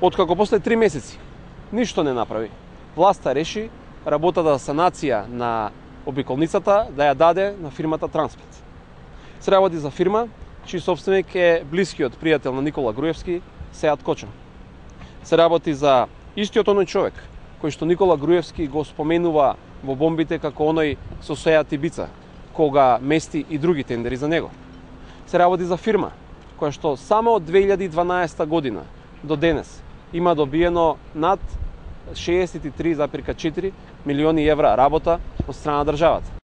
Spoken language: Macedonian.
Откако после 3 месеци ништо не направи, власта реши работата за санација на обиколницата да ја даде на фирмата Транспет. Се работи за фирма чиј собственик е блискиот пријател на Никола Груевски, Сеат Коча. Се работи за истиот оној човек кој што Никола Груевски го споменува во бомбите како оној со Сеат Ибица, кога мести и други тендери за него. Се работи за фирма која што само од 2012 година до денес има добиено над 63,4 милиони евра работа од страна на државата.